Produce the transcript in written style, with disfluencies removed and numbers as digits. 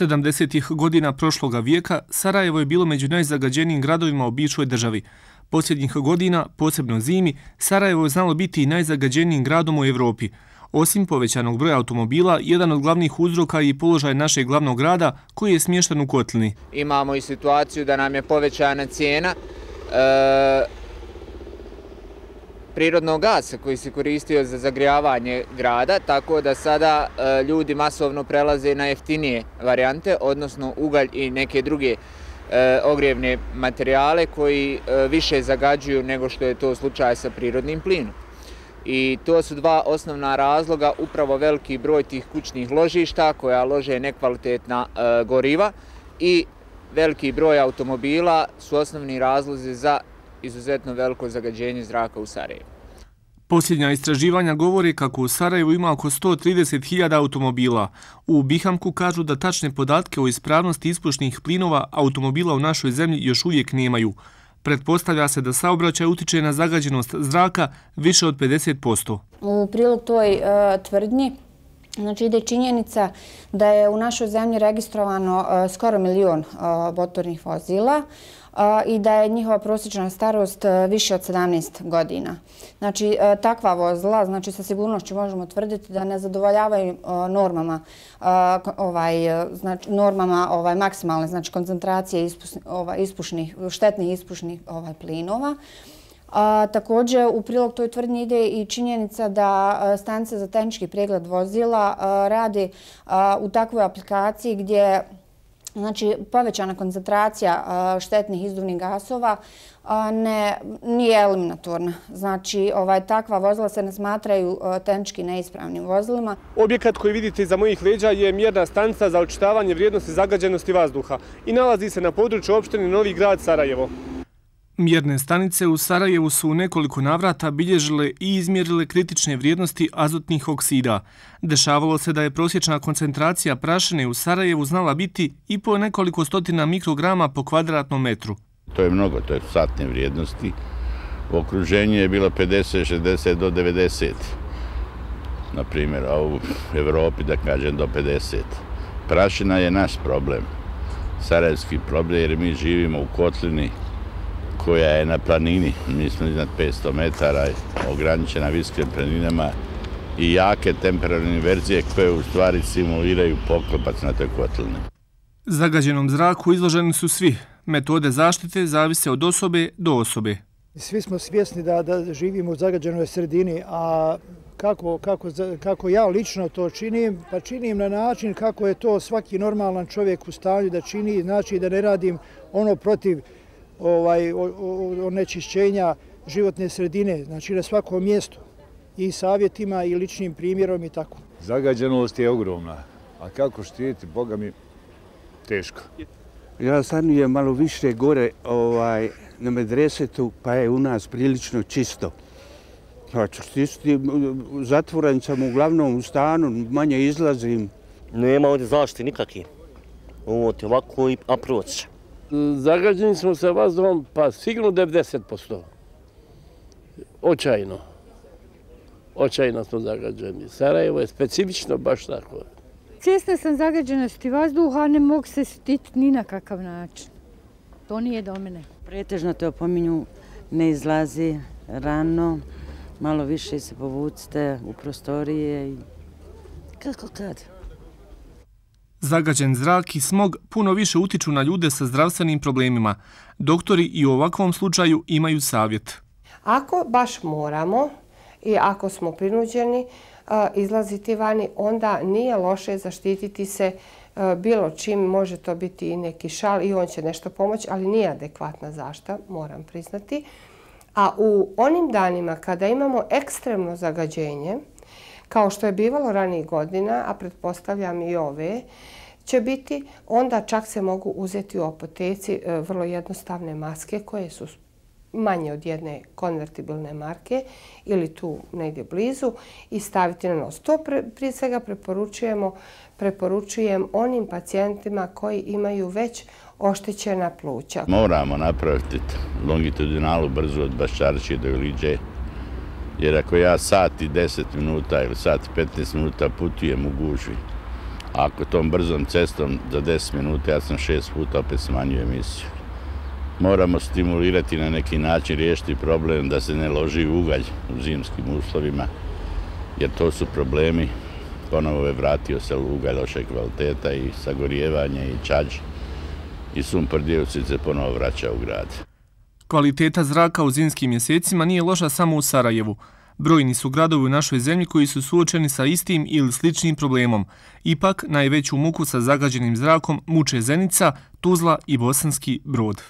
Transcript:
70-ih godina prošloga vijeka Sarajevo je bilo među najzagađenijim gradovima u bivšoj državi. Posljednjih godina, posebno zimi, Sarajevo je znalo biti i najzagađenijim gradom u Evropi. Osim povećanog broja automobila, jedan od glavnih uzroka je i položaj našeg glavnog grada koji je smješten u kotlini. Imamo i situaciju da nam je povećana cijena prirodnog gasa koji se koristio za zagrijavanje grada, tako da sada ljudi masovno prelaze na jeftinije varijante, odnosno ugalj i neke druge ogrijevne materijale koji više zagađuju nego što je to slučaj sa prirodnim plinom. I to su dva osnovna razloga, upravo veliki broj tih kućnih ložišta koja lože nekvalitetna goriva i veliki broj automobila su osnovni razlozi za izuzetno veliko zagađenje zraka u Sarajevu. Posljednja istraživanja govore kako u Sarajevu ima oko 130.000 automobila. U Bihamku kažu da tačne podatke o ispravnosti ispušnih plinova automobila u našoj zemlji još uvijek nemaju. Pretpostavlja se da saobraćaj utiče na zagađenost zraka više od 50%. U prilog toj tvrdnji ide činjenica da je u našoj zemlji registrovano skoro 1 milion motornih vozila i da je njihova prosječna starost više od 17 godina. Znači, takva vozila, sa sigurnošću možemo tvrditi da ne zadovoljavaju normama maksimalne koncentracije štetnih ispušnih plinova. Također, u prilog toj tvrdnji ide i činjenica da stanice za tehnički pregled vozila radi u takvoj aplikaciji gdje povećana koncentracija štetnih izduvnih gasova nije eliminatorna. Znači, takva vozila se ne smatraju tehnički neispravnim vozilima. Objekat koji vidite iza mojih leđa je mjerna stanica za očitavanje vrijednosti zagađenosti vazduha i nalazi se na području opštine Novi Grad Sarajevo. Mjerne stanice u Sarajevu su u nekoliko navrata bilježile i izmjerile kritične vrijednosti azotnih oksida. Dešavalo se da je prosječna koncentracija prašine u Sarajevu znala biti i po nekoliko stotina mikrograma po kvadratnom metru. To je mnogo, to je satne vrijednosti. U okruženju je bilo 50, 60 do 90. Na primjer, a u Evropi da kažem do 50. Prašina je naš problem, sarajevski problem, jer mi živimo u kotlini koja je na planini, mi smo iznad 500 metara, ograničena visokim planinama i jake temperaturne inverzije koje u stvari simuliraju poklopac na toj kotlini. Zagađenom zraku izloženi su svi. Metode zaštite zavise od osobe do osobe. Svi smo svjesni da živimo u zagađenoj sredini, a kako ja lično to činim, pa činim na način kako je to svaki normalan čovjek u stanju da čini, znači da ne radim ono protiv onečišćenja životne sredine, znači na svakom mjestu i savjetima i ličnim primjerom i tako. Zagađenost je ogromna, a kako štititi, Boga mi, teško. Ja stanujem malo više gore na Medresetu, pa je u nas prilično čisto. Znači, zatvoren sam uglavnom u stanu, manje izlazim. Nema ovdje zaštite nikakve. Ovo je ovako a proći. Zagađeni smo sa vazduhom, pa sigurno 90%. Očajno. Očajno smo zagađeni. Sarajevo je specifično baš tako. Svjesna sam zagađenosti vazduha, ne mogu se štititi ni na kakav način. To nije do mene. Pretežno te opominju, ne izlazi rano, malo više se povucite u prostorije i kako kad. Zagađen zrak i smog puno više utiču na ljude sa zdravstvenim problemima. Doktori i u ovakvom slučaju imaju savjet. Ako baš moramo i ako smo prinuđeni izlaziti vani, onda nije loše zaštititi se bilo čim, može to biti i neki šal i on će nešto pomoći, ali nije adekvatna zaštita, moram priznati. A u onim danima kada imamo ekstremno zagađenje, kao što je bivalo ranijih godina, a pretpostavljam i ove, će biti, onda čak se mogu uzeti u apoteci vrlo jednostavne maske koje su manje od jedne konvertibilne marke ili tu negdje blizu i staviti na nos. To prije svega preporučujem onim pacijentima koji imaju već oštećena pluća. Moramo napraviti longitudinalu brzu od Baščarčije do Iliđe, jer ako ja sat i 10 minuta ili sat i 15 minuta putujem u gužvi, Ako tom brzom cestom za 10 minuta, ja sam 6 puta opet smanjio emisiju. Moramo stimulirati na neki način, riješiti problem da se ne loži ugalj u zimskim uslovima, jer to su problemi. Ponovo je vratio se ugalj loše kvaliteta i sagorijevanje i čađ i sumpor dioksid se ponovo vraća u grad. Kvaliteta zraka u zimskim mjesecima nije loša samo u Sarajevu. Brojni su gradovi u našoj zemlji koji su suočeni sa istim ili sličnim problemom. Ipak, najveću muku sa zagađenim zrakom muče Zenica, Tuzla i Bosanski Brod.